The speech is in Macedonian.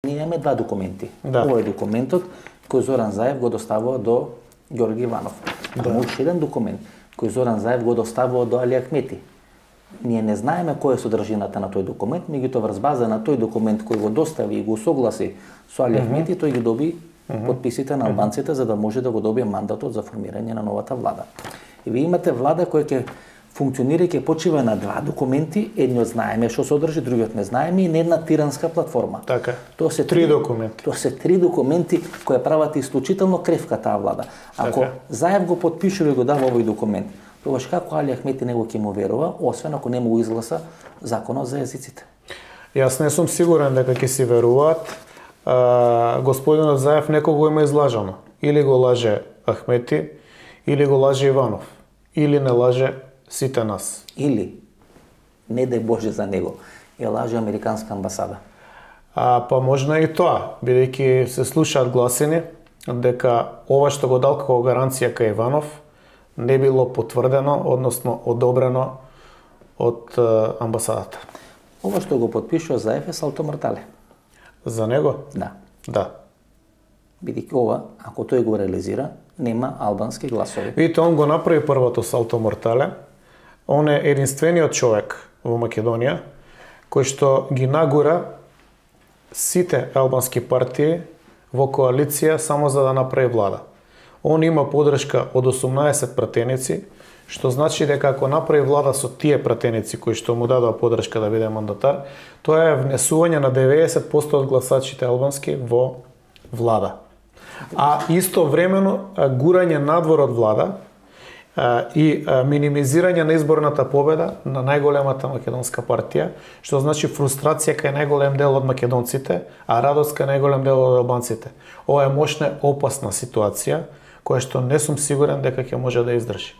Ние имаме два документи. Да. Ова е документот кој Зоран Заев го доставува до Ѓорги Иванов. Да. Има уште еден документ кој Зоран Заев го доставува до Али Ахмети. Ние не знаеме која е содржината на тој документ, меѓутоа врз база на тој документ кој го достави и го согласи со Али Ахмети, тој ги доби подписите на албанците за да може да го добие мандатот за формирање на новата влада. И вие имате влада која ќе функционира и ќе почива на два документи, едниот знаеме што содржи, другиот не знаеме и на една тиранска платформа. Така. Тоа се три документи. Тоа се три документи кои прават исклучително кревка таа влада. Ако Така. Заев го подпишува и го дава овој документ, тогаш како Али Ахмети него ќе му верува, освен ако не му изгласа законот за езиците? Јас не сум сигурен дека ќе си веруваат. Господинот Заев некого има излажано. Или го лаже Ахмети, или го лаже Иванов, или не лаже сите нас. Или, не дај Боже за него, ја лаже Американска амбасада. Па можно и тоа, бидејќи се слушаат гласини дека ова што го дал како гаранција кај Иванов не било потврдено, односно одобрено од амбасадата. Ова што го подпишува Заев е салто мортале. За него? Да. Да. Бидејќи ова, ако тој го реализира, нема албански гласови. Видите, он го направи првото салто мортале. Он е единствениот човек во Македонија кој што ги нагура сите албански партии во коалиција само за да направи влада. Он има подршка од 18 пратеници, што значи дека ако направи влада со тие пратеници кои што му дадоа подршка да биде мандатар, тоа е внесување на 90% од гласачите албански во влада. А истовремено гурање надвор од влада и минимизирање на изборната победа на најголемата македонска партија, што значи фрустрација кај најголем дел од македонците, а радост кај најголем дел од албанците. Ова е мощна, опасна ситуација, која што не сум сигурен дека ќе може да издржи.